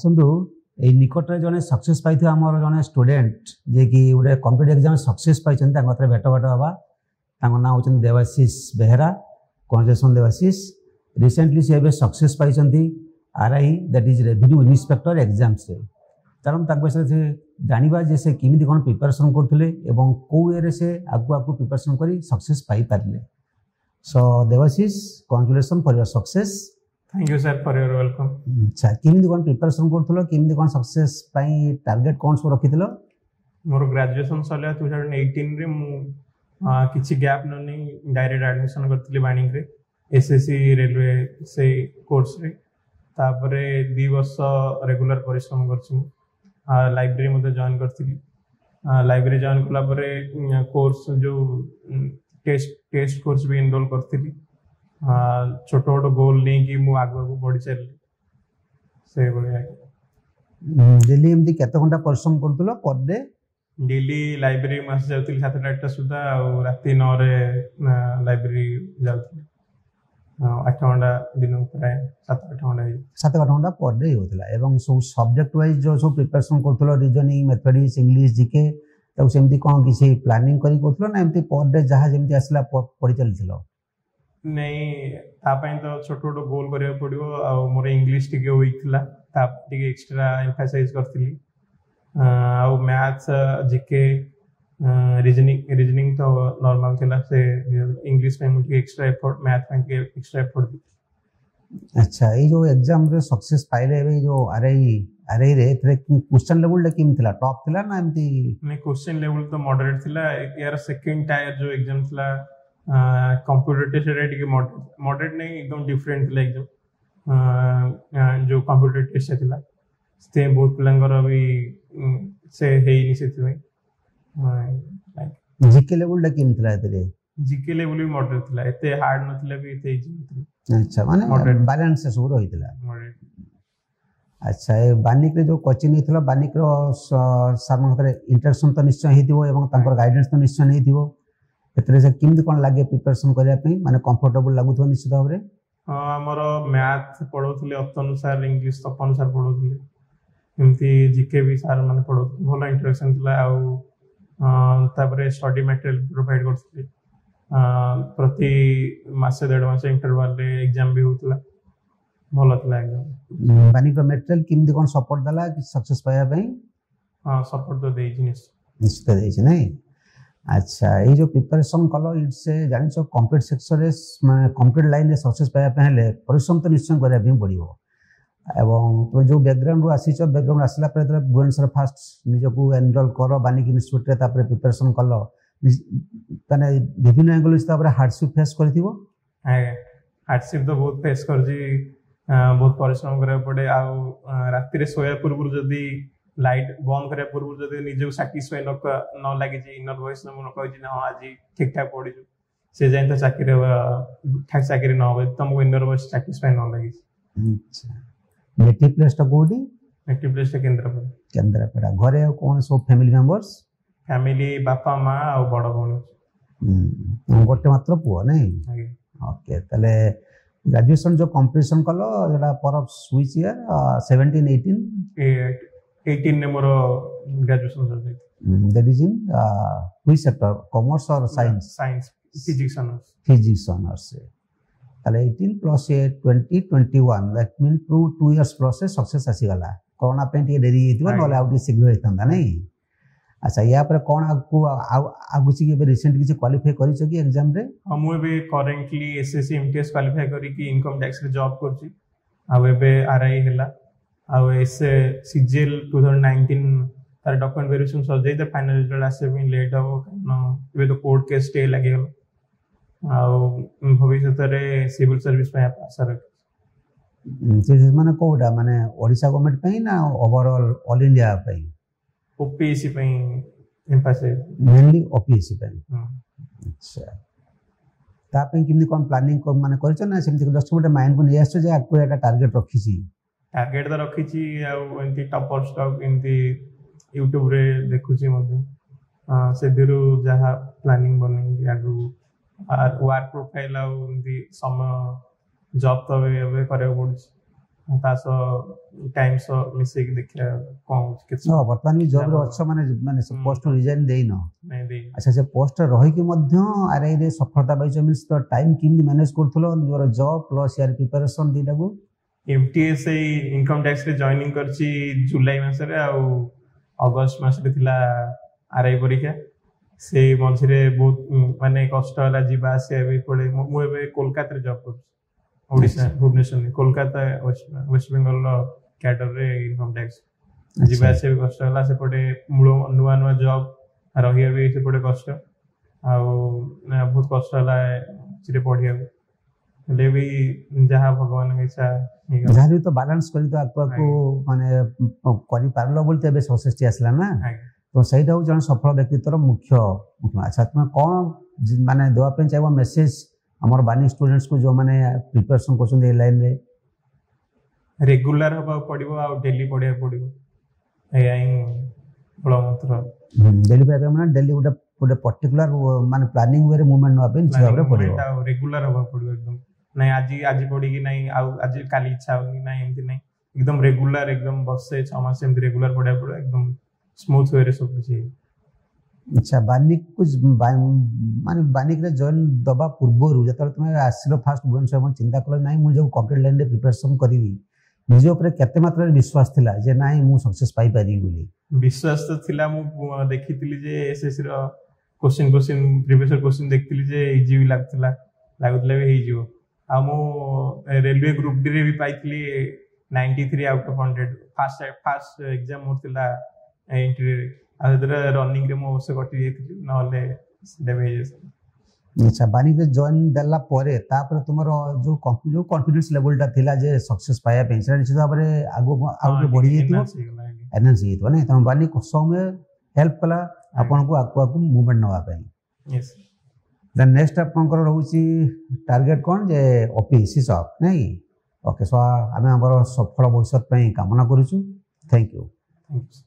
ଆସନ୍ତୁ, ଏଇ ନିକଟରେ ଜଣେ ସକ୍ସେସ୍ ପାଇଥିବା ଆମର ଜଣେ ଷ୍ଟୁଡେଣ୍ଟ, ଯିଏକି ଗୋଟେ କମ୍ପିଟେଟିଭ୍ ଏକ୍ଜାମ୍ ସକ୍ସେସ୍ ପାଇଛନ୍ତି, ତାଙ୍କ କତିରେ ଭେଟ ହେବା। ତାଙ୍କ ନାଁ ହେଉଛନ୍ତି ଦେବାଶିଷ ବେହେରା। କଂଗ୍ରାଚୁଲେସନ୍ ଦେବାଶିଷ। ରିସେଣ୍ଟଲି ସେ ଏବେ ସକ୍ସେସ୍ ପାଇଛନ୍ତି RI, that is revenue inspector ଏକ୍ଜାମ୍ସରେ। କାରଣ ତାଙ୍କ ବିଷୟରେ ସେ ଜାଣିବା ଯେ ସେ କେମିତି କ'ଣ ପ୍ରିପାରେସନ୍ କରୁଥିଲେ ଏବଂ କେଉଁ ୱେରେ ସେ ଆଗକୁ ଆଗକୁ ପ୍ରିପାରେସନ୍ କରି success ପାଇପାରିଲେ। So Debashish, congratulation for your success. Thank you, sir, for your welcome. ଆଚ୍ଛା, କେମିତି କ'ଣ ପ୍ରିପାରେସନ୍ କରୁଥିଲ? କେମିତି କ'ଣ ସକ୍ସେସ୍ ପାଇଁ ଟାର୍ଗେଟ୍ କ'ଣ ସବୁ ରଖିଥିଲ? ମୋର ଗ୍ରାଜୁଏସନ୍ ସରିଲା 2018ରେ। ମୁଁ କିଛି ଗ୍ୟାପ୍ ନ ନେଇ ଡାଇରେକ୍ଟ ଆଡ଼ମିସନ୍ କରିଥିଲି ବାଣିକରେ ଏସ୍ଏସ୍ସି ରେଲୱେ ସେଇ କୋର୍ସରେ। ତାପରେ 2 ବର୍ଷ ରେଗୁଲାର ପରିଶ୍ରମ କରିଛି ମୁଁ। ଲାଇବ୍ରେରୀ ମଧ୍ୟ ଜଏନ୍ କରିଥିଲି। ଲାଇବ୍ରେରୀ ଜଏନ୍ କଲା ପରେ କୋର୍ସ ଯେଉଁ ଟେଷ୍ଟ କୋର୍ସ ବି ଏନରୋଲ୍ କରିଥିଲି। ଛୋଟ ଛୋଟ ଗୋଲ୍ ନେଇକି ମୁଁ ଆଗକୁ ଆଗକୁ ବଢ଼ି ଚାଲିଲି ସେଇଭଳିଆ। ଡେଲି ଏମିତି କେତେ ଘଣ୍ଟା ପରିଶ୍ରମ କରୁଥିଲ ପର୍ ଡେ? ଡେଲି ଲାଇବ୍ରେରୀ ମୁଁ ଆସି ଯାଉଥିଲି 7ଟା 8ଟା ସୁଦ୍ଧା ଆଉ ରାତି 9ରେ ଲାଇବ୍ରେରୀ ଯାଉଥିଲି। 8 ଘଣ୍ଟା ଦିନକୁ, ପ୍ରାୟ 7-8 ଘଣ୍ଟା ହେଇଯାଏ। 7-8 ଘଣ୍ଟା ପର୍ ଡେ ହେଉଥିଲା। ଏବଂ ସବୁ ସବଜେକ୍ଟ ୱାଇଜ୍ ଯେଉଁ ସବୁ ପ୍ରିପାରେସନ୍ କରୁଥିଲ, ରିଜନିଂ, ମ୍ୟାଥମେଟିକ୍ସ, ଇଂଲିଶ, ଜିକେ, ତାକୁ ସେମିତି କ'ଣ କିଛି ପ୍ଲାନିଂ କରି କରୁଥିଲ ନା ଏମିତି ପର୍ ଡେ ଯାହା ଯେମିତି ଆସିଲା ପଢ଼ି ଚାଲିଥିଲ? ନାଇଁ, ତା ପାଇଁ ତ ଛୋଟ ଛୋଟ ଗୋଲ୍ କରିବାକୁ ପଡ଼ିବ। ଆଉ ମୋର ଇଂଲିଶ ଟିକେ ୱିକ୍ ଥିଲା, ତା ଟିକେ ଏକ୍ସଟ୍ରା ଏମ୍ଫାସାଇଜ୍ କରିଥିଲି। ଆଉ ମ୍ୟାଥ୍ସ, ଜିକେ, ରିଜନିଂ ତ ନର୍ମାଲ ଥିଲା। ସେ ଇଂଲିଶ ପାଇଁ ମୁଁ ଟିକେ ଏକ୍ସଟ୍ରା ଏଫର୍ଟ, ମ୍ୟାଥ୍ ପାଇଁ ଟିକେ ଏକ୍ସଟ୍ରା ଏଫର୍ଟ ଦେଇଥିଲି। ଆଚ୍ଛା, ଏଇ ଯେଉଁ ଏକ୍ଜାମ୍ରେ ସକ୍ସେସ୍ ପାଇଲେ ଏବେ ଏଇ ଯେଉଁ ଆର୍ଆଇରେ, ଏଥିରେ କ୍ୱେଶ୍ଚନ୍ ଲେବୁଲ୍ଟା କେମିତି ଥିଲା? ଟପ୍ ଥିଲା ନା ଏମିତି? ମାନେ କ୍ୱେଶ୍ଚନ୍ ଲେବୁଲ୍ ତ ମଡରେଟ୍ ଥିଲା। ଏହାର ସେକେଣ୍ଡ ଟାୟାର ଯେଉଁ ଏକ୍ଜାମ୍ ଥିଲା କମ୍ପ୍ୟୁଟର ଟେଷ୍ଟ, ସେଟା ଟିକେ ମଡରେଟ୍ ନାଇଁ, ଏକଦମ ଡିଫରେଣ୍ଟ ଥିଲା ଏକ୍ଜାମ୍ ଯେଉଁ କମ୍ପ୍ୟୁଟର ଟେଷ୍ଟ ଥିଲା। ସେଥିପାଇଁ ବହୁତ ପିଲାଙ୍କର ବି ସେ ହେଇନି ସେଥିପାଇଁ। ଜିକେ ଲେବୁଲ୍ଟା କେମିତି ଥିଲା ଏଥିରେ? ଜିକେ ଲେବୁଲ୍ ବି ମଡରେଟ୍ ଥିଲା। ଏତେ ହାର୍ଡ ନଥିଲା ବି ଏତେ ଇଜି ନଥିଲା। ଆଚ୍ଛା, ମାନେ Moderate. Balance ସବୁ ରହିଥିଲା। ମଡରେଟ୍। ଆଚ୍ଛା, ଏ ବାନିକରେ ଯେଉଁ କୋଚିଂ ନେଇଥିଲ, ବାନିକର ସାର୍ଙ୍କ ସାଥିରେ ଇଣ୍ଟରାକ୍ସନ୍ ତ ନିଶ୍ଚୟ ହେଇଥିବ ଏବଂ ତାଙ୍କର ଗାଇଡେନ୍ସ ତ ନିଶ୍ଚୟ ନେଇଥିବ। ଏଥିରେ ସେ କେମିତି କ'ଣ ଲାଗେ ପ୍ରିପାରେସନ୍ କରିବା ପାଇଁ? ମାନେ କମ୍ଫର୍ଟେବଲ୍ ଲାଗୁଥିବ ନିଶ୍ଚିତ ଭାବରେ। ହଁ, ଆମର ମ୍ୟାଥ୍ ପଢ଼ଉଥିଲେ Atanu sir, English Tapan sir ପଢ଼ଉଥିଲେ, ଏମିତି ଜିକେ ବି ସାର୍ ମାନେ ପଢ଼ଉଥିଲେ। ଭଲ ଇଣ୍ଟରାକ୍ସନ୍ ଥିଲା। ଆଉ ତାପରେ ଷ୍ଟଡି ମ୍ୟାଟେରିଆଲ ପ୍ରୋଭାଇଡ୍ କରୁଥିଲେ। ପ୍ରତି ମାସେ ଦେଢ଼ ମାସ ଇଣ୍ଟରଭାଲରେ ଏକ୍ଜାମ୍ ବି ହେଉଥିଲା। ଭଲ ଥିଲା ଏକ୍ଜାମ୍। ବାନିକର ମେଟେରିଆଲ କେମିତି କ'ଣ ସପୋର୍ଟ ଦେଲା କିଛି ସକ୍ସେସ୍ ପାଇବା ପାଇଁ? ହଁ, ସପୋର୍ଟ ତ ଦେଇଛି ନିଶ୍ଚୟ। ନିଶ୍ଚିତ ଦେଇଛି, ନାଇଁ? ଆଚ୍ଛା, ଏଇ ଯେଉଁ ପ୍ରିପାରେସନ୍ କଲ, it's a ଜାଣିଛ, କମ୍ପିଟେଟିଭ୍ ସେକ୍ସନରେ, ମାନେ କମ୍ପିଟେଟିଭ୍ ଲାଇନ୍ରେ ସକ୍ସେସ୍ ପାଇବା ପାଇଁ ହେଲେ ପରିଶ୍ରମ ତ ନିଶ୍ଚୟ କରିବା ପାଇଁ ପଡ଼ିବ। ଏବଂ ତୁମେ ଯେଉଁ ବ୍ୟାକଗ୍ରାଉଣ୍ଡରୁ ଆସିଛ, ବ୍ୟାକଗ୍ରାଉଣ୍ଡ ଆସିଲା ପରେ ଯେତେବେଳେ ଭୁବନେଶ୍ୱର ଫାଷ୍ଟ ନିଜକୁ ଏନରୋଲ୍ କର ବାନିକ ଇନଷ୍ଟିଚ୍ୟୁଟ୍ରେ, ତାପରେ ପ୍ରିପାରେସନ୍ କଲ, ମାନେ ବିଭିନ୍ନ ଆଙ୍ଗଲ ତାପରେ ହାର୍ଡସିପ୍ ଫେସ୍ କରିଥିବ। ଆଜ୍ଞା, ହାର୍ଡସିପ୍ ତ ବହୁତ ଫେସ୍ କରିଛି। ବହୁତ ପରିଶ୍ରମ କରିବାକୁ ପଡ଼େ। ଆଉ ରାତିରେ ଶୋଇବା ପୂର୍ବରୁ ଯଦି ଲାଇଟ୍ ବନ୍ଦ କରିବା ପୂର୍ବରୁ ଯଦି ନିଜକୁ ସାଟିସ୍ଫାଇ ନ ଲାଗିଛି, ଇନର ଭଏସ୍ ମୁଁ ନ କହିଛି ନା ହଁ, ଆଜି ଠିକ୍ ଠାକ୍ ପଢ଼ିଛୁ, ସେ ଯାଏଁ ତ ଚାକିରି ଠିକ୍ ଚାକିରି ନ ହବ, ଯଦି ତମକୁ ଇନର ଭଏସ୍ ସାଟିସ୍ଫାଇ ନ ଲାଗିଛି। ଆଚ୍ଛା, ନେଟିଭ୍ ପ୍ଲେସ୍ଟା କେଉଁଠି? ନେଟିଭ୍ ପ୍ଲେସ୍ଟା କେନ୍ଦ୍ରାପଡ଼ା। କେନ୍ଦ୍ରାପଡ଼ା। ଘରେ ଆଉ କ'ଣ ସବୁ ଫ୍ୟାମିଲି ମେମ୍ବର୍ସ? ଫ୍ୟାମିଲି ବାପା, ମା ଆଉ ବଡ଼ ଭଉଣୀ। ଗୋଟେ ମାତ୍ର ପୁଅ, ନାଇଁ? ଆଜ୍ଞା। ଓକେ, ତାହେଲେ ଗ୍ରାଜୁଏସନ୍ ଯେଉଁ କମ୍ପ୍ଲିସନ୍ କଲ, ସେଟା ପର which year, 17, 18? 18ରେ ମୋର ଗ୍ରାଜୁଏସନ୍ ସରିଯାଇଛି। That is in which sector, commerce or science? Science, physics honours. Physics honours. ତାହେଲେ 18 plus 20, 21, that mean 2 years plus success ଆସିଗଲା। କରୋନା ପାଇଁ ଟିକେ ଡେରି ହେଇଥିବ, ନହେଲେ ଆଉ ଟିକେ ଶୀଘ୍ର ହେଇଥାନ୍ତା, ନାଇଁ? ଆଚ୍ଛା, ୟା ପରେ କ'ଣ ଆଗକୁ ଆଉ କିଛି ଏବେ ରିସେଣ୍ଟ କିଛି କ୍ୱାଲିଫାଇ କରିଛ କି ଏକ୍ଜାମ୍ରେ? ହଁ, ମୁଁ ଏବେ କରେଣ୍ଟଲି ଏସ୍ଏସ୍ସି ଏମ୍ଟିଏସ୍ କ୍ୱାଲିଫାଇ କରିକି ଇନକମ୍ ଟ୍ୟାକ୍ସରେ ଜବ୍ କରୁଛି। ଆଉ ଏବେ ଆର୍ଆଇ ହେଲା। ଆଉ ଏସ୍ ସିଜିଏଲ୍ 2019, ତାର ଡକ୍ୟୁମେଣ୍ଟ ଭେରିଫିକେସନ୍ ସରିଯାଇ, ତାର ଫାଇନାଲ ରେଜଲ୍ଟ ଆସିବା ପାଇଁ ଲେଟ୍ ହେବ, କାରଣ ଏବେ ତ କୋର୍ଟ କେସ୍ ଷ୍ଟେ ଲାଗିଗଲା। ଆଉ ଭବିଷ୍ୟତରେ ସିଭିଲ୍ ସର୍ଭିସ୍ ପାଇଁ ଆଶା ରଖିଛି। ସେ ମାନେ କୋଉଟା, ମାନେ ଓଡ଼ିଶା ଗଭର୍ଣ୍ଣମେଣ୍ଟ ପାଇଁ ନା ଓଭରଅଲ୍ ଅଲ୍ ଇଣ୍ଡିଆ ପାଇଁ? ଓପିଏସ୍ସି ପାଇଁ ଏମ୍ଫାସାଇଜ୍। ମେନଲି ଓପିଏସ୍ସି ପାଇଁ। ଆଚ୍ଛା, ତା ପାଇଁ କେମିତି କ'ଣ ପ୍ଲାନିଂ ମାନେ କରିଛ ନା ସେମିତି ଜଷ୍ଟ ଗୋଟେ ମାଇଣ୍ଡକୁ ନେଇ ଆସିଛ ଯେ ଆଗକୁ ଏଇଟା ଟାର୍ଗେଟ୍ ରଖିଛି? ଟାର୍ଗେଟ୍ ତ ରଖିଛି। ଆଉ ଏମିତି ଟପର ଷ୍ଟକ୍ ଏମିତି ୟୁଟ୍ୟୁବରେ ଦେଖୁଛି ମଧ୍ୟ। ସେଥିରୁ ଯାହା ପ୍ଲାନିଂ ବନେଇକି ଆଗକୁ ୱାର୍କ ପ୍ରୋଫାଇଲ୍ ଆଉ ଏମିତି ସମୟ, ଜବ୍ ତ ଏବେ ଏବେ କରିବାକୁ ପଡୁଛି। ତା ସହ ଟାଇମ୍ ସହ ମିଶେଇକି ଦେଖିବା କଣ ହଉଛି କେତେ ହଁ, ବର୍ତ୍ତମାନ ବି ଜବ୍ରେ ଲାଭ। ଅଛ, ମାନେ ମାନେ ସେ ହୁଁ। ପୋଷ୍ଟ ରିଜାଇନ୍ ଦେଇନ? ନାଇଁ, ଦେଇନି। ଆଚ୍ଛା, ସେ ପୋଷ୍ଟରେ ରହିକି ମଧ୍ୟ ଆର୍ଆଇରେ ସଫଳତା ପାଇଛ, ମିନ୍ସ ତ ଟାଇମ୍ କେମିତି ମ୍ୟାନେଜ୍ କରୁଥିଲ ନିଜର ଜବ୍ ପ୍ଲସ୍ ୟାର ପ୍ରିପାରେସନ୍ ଦୁଇଟାକୁ? ଏମଟିଏସ୍ ଏଇ ଇନକମ୍ ଟ୍ୟାକ୍ସରେ ଜଏନିଂ କରିଛି ଜୁଲାଇ ମାସରେ, ଆଉ ଅଗଷ୍ଟ ମାସରେ ଥିଲା ଆର୍ଆଇ ପରୀକ୍ଷା। ସେ ମଝିରେ ବହୁତ ମାନେ କଷ୍ଟ ହେଲା ଯିବା ଆସିବା ବି ପଡେ। ମୁଁ ଏବେ କୋଲକାତାରେ ଜବ୍ କରୁଛି, ଓଡ଼ିଶା ଭୁବନେଶ୍ୱର ନୁହେଁ, କୋଲକାତା ୱେଷ୍ଟ ବେଙ୍ଗଲର କ୍ୟାଡରରେ ଇନକମ୍ ଟ୍ୟାକ୍ସ। ଯିବା ଆସିବା ବି କଷ୍ଟ ହେଲା ସେପଟେ, ମୂଳ ନୂଆ ନୂଆ ଜବ୍, ରହିବା ବି ସେପଟେ କଷ୍ଟ, ଆଉ ବହୁତ କଷ୍ଟ ହେଲା ସେଥିରେ ପଢିବାକୁ। ହେଲେ ବି ଯାହା ଭଗବାନଙ୍କ ଇଚ୍ଛା ହେଇଗଲା। ଯାହା ବି ତ ବାଲାନ୍ସ କରି ତ ଆଗକୁ ଆଗକୁ ମାନେ କରିପାରିଲ ବୋଲି ତ ଏବେ ସକ୍ସେସଟି ଆସିଲା ନା? ଆଜ୍ଞା। ତ ସେଇଟା ହେଉଛି ଜଣେ ସଫଳ ବ୍ୟକ୍ତିତ୍ୱର ମୁଖ୍ୟ ମୁଖ୍ୟ। ଆଚ୍ଛା, ତୁମେ କ'ଣ ମାନେ ଦେବା ପାଇଁ ଚାହିଁବ ମେସେଜ ଆମର ବାନିକ ଷ୍ଟୁଡେଣ୍ଟସକୁ, ଯେଉଁମାନେ ପ୍ରିପାରେସନ୍ କରୁଛନ୍ତି ଏ ଲାଇନରେ? ରେଗୁଲାର ହବାକୁ ପଡିବ ଆଉ ଡେଲି ପଢିବାକୁ ପଡିବ, ଏଇଆ ହିଁ ମୂଳ ମନ୍ତ୍ର। ଡେଲି ପଢିବା ପାଇଁ ମାନେ ଡେଲି ଗୋଟେ ଗୋଟେ ପର୍ଟିକୁଲାର ମାନେ ପ୍ଲାନିଂ ୱେରେ ମୁଭମେଣ୍ଟ ନେବା ପାଇଁ ନିଶ୍ଚିତ ଭାବରେ ପଡିବ। ଆଉ ରେଗୁଲାର ହବାକୁ ପଡିବ ଏକଦମ। ନାଇଁ ଆଜି ପଢିକି ନାଇଁ ଆଉ ଆଜି କାଲି ଇଚ୍ଛା ହଉନି, ନାଇଁ ଏମିତି ନାଇଁ, ଏକଦମ ରେଗୁଲାର, ଏକଦମ ବର୍ଷେ 6 ମାସ ଏମିତି ରେଗୁଲାର ପଢିବାକୁ ପଡିବ, ଏକଦମ ସ୍ମୁଥ ୱେରେ ସବୁ କିଛି। ଆଚ୍ଛା, ବାନିକକୁ ମାନେ ବାନିକରେ ଜଏନ୍ ଦେବା ପୂର୍ବରୁ ଯେତେବେଳେ ତୁମେ ଆସିଲ ଫାଷ୍ଟ ଭୁବନେଶ୍ୱର, ଚିନ୍ତା କଲ ନାଇଁ ମୁଁ ଯେଉଁ କମ୍ପିଟେଟିଭ୍ ଲାଇନରେ ପ୍ରିପାରେସନ୍ କରିବି, ନିଜ ଉପରେ କେତେ ମାତ୍ରାରେ ବିଶ୍ୱାସ ଥିଲା ଯେ ନାଇଁ ମୁଁ ସକ୍ସେସ୍ ପାଇପାରିବି ବୋଲି? ବିଶ୍ୱାସ ତ ଥିଲା। ମୁଁ ଦେଖିଥିଲି ଯେ ଏସଏସସି ର କୋଶ୍ଚିନ୍ ପ୍ରିଭିୟସ କୋଶ୍ଚିନ୍ ଦେଖିଥିଲି ଯେ ଇଜି ବି ଲାଗୁଥିଲା, ଲାଗୁଥିଲା ବି ହେଇଯିବ। ଆଉ ମୁଁ ରେଲୱେ ଗ୍ରୁପ ଡି ରେ ବି ପାଇଥିଲି 93 out of 100, first exam ମୋର ଥିଲା ଏଣ୍ଟ୍ରିରେ। ଆଉ ସେଥିରେ ରନିଂ ରେ ମୁଁ ଅବଶ୍ୟ କଟି ଯାଇଥିଲି, ନହେଲେ ସେଇଟା ବି ହେଇଯାଇଥିଲା। ଆଚ୍ଛା, ବାନିକରେ ଜଏନ୍ ଦେଲା ପରେ ତାପରେ ତୁମର ଯୋଉ କନଫିଡେନ୍ସ ଲେଭେଲଟା ଥିଲା ଯେ ସକ୍ସେସ୍ ପାଇବା ପାଇଁ, ସେଟା ନିଶ୍ଚିତ ଭାବରେ ଆଗକୁ ଆଉ ଟିକେ ବଢିଯାଇଥିବ। Enhance ହେଇଗଲା, ଆଜ୍ଞା। ଏନହାନ୍ସ ହେଇଯାଇଥିବ ନାଇଁ? ତେଣୁ ବାନିକ ସମୟ ହେଲ୍ପ କଲା ଆପଣଙ୍କୁ ଆଗକୁ ଆଗକୁ ମୁଭମେଣ୍ଟ ନେବା ପାଇଁ। Yes. ଦେନ୍ ନେକ୍ସଟ ଆପଣଙ୍କର ରହୁଛି ଟାର୍ଗେଟ କ'ଣ ଯେ ଓପିଏସସି ଜବ୍ ନାଇଁ? ଓକେ, ସୋ ଆମେ ଆମର ସଫଳ ଭବିଷ୍ୟତ ପାଇଁ କାମନା କରୁଛୁ। Thank you. Thank you.